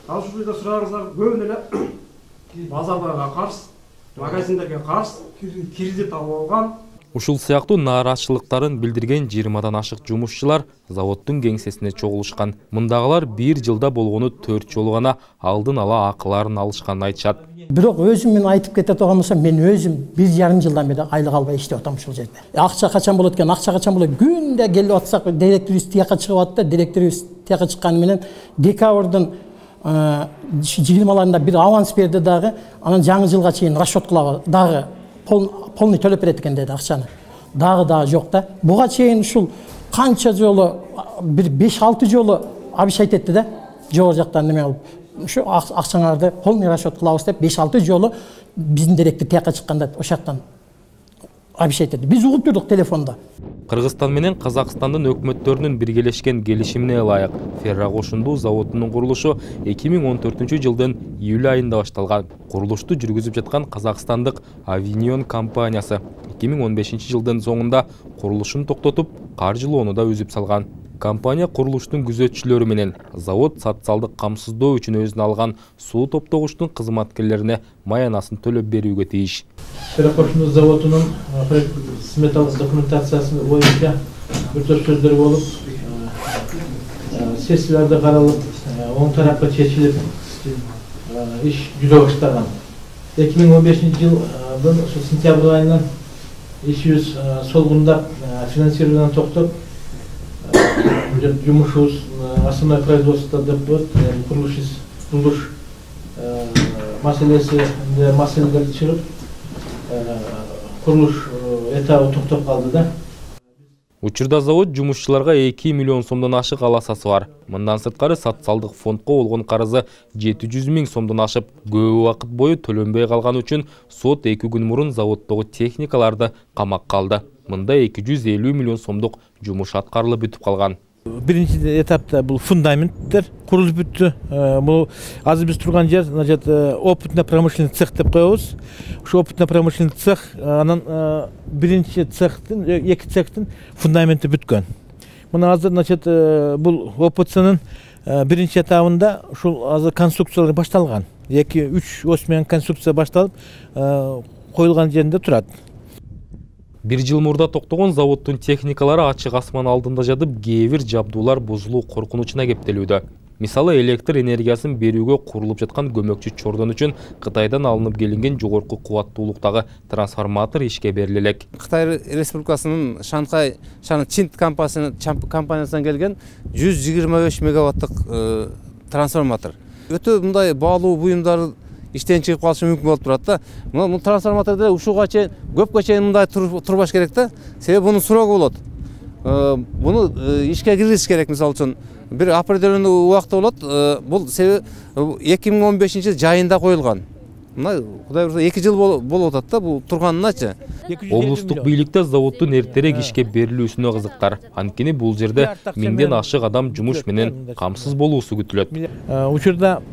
Ал ушул жерде сураарыңыздар көбүнө эле базардарга карыз, магазиндерге карыз, кредит алып алган. Ушул сыяктуу нааразычылыктарын билдирген 20дан ашык жумушчулар заводдун кеңсесине чогулушкан. Мындагылар 1 жылда болгону 4 жолу гана алдын ала акыларын алышканын айтышат. Бирок өзүм мен айтып кете турган болсом, мен өзүм 1,5 жылдан бери айлык албай иштеп атам ушул жерде. Акча качан болот экен, акча качан болот? Күндө келип атсак, директорубуз тияка чыгып атты. Директорубуз тияка чыкканы менен декабрдын 20-ларында бир аванс берди дагы, анан жаңы жылга чейин расчет кылабыз дагы. Полный төлөп берет экен деди акчаны. Дагы жок да. Буга чейин ушул канча жолу, бир 5-6 жолу обещать этти да. Жогору жактан неме кылып, ушу акчаңарды полный расчет кылабыз деп 5-6 жолу биздин директор тияка чыкканда ошол жактан обещать этти. Биз угуп турдук телефондо. Кыргызстан менен Казакстандын өкмөттөрүнүн биргелешкен келишимине ылайык феррокошундуу заводунун курулушу 2014-жылдын июль айында башталган. Курулушту жүргүзүп жаткан казакстандык Avinion компаниясы 2015-жылдын соңунда курулушун токтотуп, каржылоону да үзүп салган. Компания курулуштун күзөтчүлөрү менен завод социалдык камсыздоо үчүн өзүнө алган суу топтогучтун кызматкерлерине маянасын төлөп берүүгө тийиш. Феррокошундуу заводунун сметалык документациясы боюнча бир топ сөздөр болуп, сессияларда каралып, оң тарапка чечилип, иш жүрө баштаган. 2015-жылдын сентябрь айынан ишибиз солгундап, финансированияны токтоп, жумушубуз основной производство деп коет, курулуш маселелери чыгып, курулуш этабы токтоп калды да. Учурда завод жумушчуларга 2 миллион сомдон ашык аласасы бар. Мындан сырткары социалдык фондко болгон карызы 700 000 сомдон ашып, көп убакыт бою төлөнбөй калган үчүн сот 2 күн мурун заводдогу техникаларды камакка алды. Мында 250 миллион сомдук жумуш аткарылып бүтүп калган. Биринчи этапта бул фундаменттер курулуп бүттү. Бул азыр биз турган жер, значит, опытно-промышленный цех деп коебуз. Ушу опытно-промышленный цех, анан биринчи цехтин, эки цехтин фундаменти бүткөн. Мына азыр, значит, бул ОПЦнын биринчи этабында ушул азыр конструкциялар башталган. 2-3 ос менен конструкция башталып, коюлган жеринде турат. 1 жыл мурда токтогон заводдун техникалары ачык асман алдында жатып, кээ бир жабдуулар бузулуу коркунучуна кептелүүдө. Мисалы, электр энергиясын берүүгө курулуп жаткан көмөкчү чордон үчүн Кытайдан алынып келинген жогорку кубаттуулуктагы трансформатор ишке бериле элек. Кытай Республикасынын Шанхай Чинт компаниясынан келген 125 мегаваттык трансформатор. Өтө мындай баалуу буюмдар иштен чыгып калышы мүмкүн болуп турат да. Бул трансформатордо ушуга чейин көпкө чейин мындай турбаш керек да. Себеби бунун сурогу болот. Буну ишке киргизиш керек, мисалы үчүн бир определенный убакта болот. Бул себеби 2015 жайында коюлган. Мына Кудай буйрса 2 жыл болуп атат да бул турганыначы. Облустук бийликте заводдун эртерээк ишке берилүүсүнө кызыктар. Анткени бул жерде 1000ден ашык адам жумуш менен камсыз болуусу күтүлөт. Учурда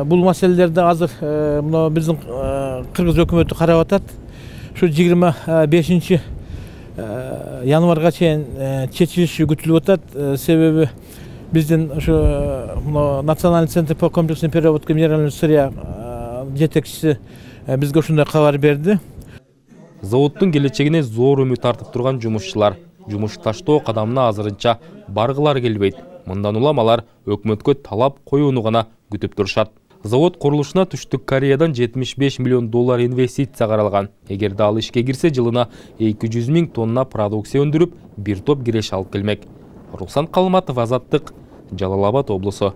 бул маселелерди азыр мына биздин кыргыз өкмөтү карап атат. Ушу 25 январга чейин чечилиши күтүлүп атат. Себеби биздин ушу Национальный центр по комплексной переработке минеральных сырья жетекчиси бизге ушундай кабар берди. Заводдун келечегине зор үмүт артып турган жумушчулар жумуш таштоо кадамына азырынча баргылар келбейт. Мындан улам алар өкмөткө талап коюуну гана күтүп турушат. Завод курулушуна Түштүк Кореядан $75 миллион инвестиция каралган. Эгерде ал ишке кирсе, жылына 200 000 тонна продукция өндүрүп, бир топ киреш алып келмек. Руслан Калматов, Азаттык, Жалал Абад облусу.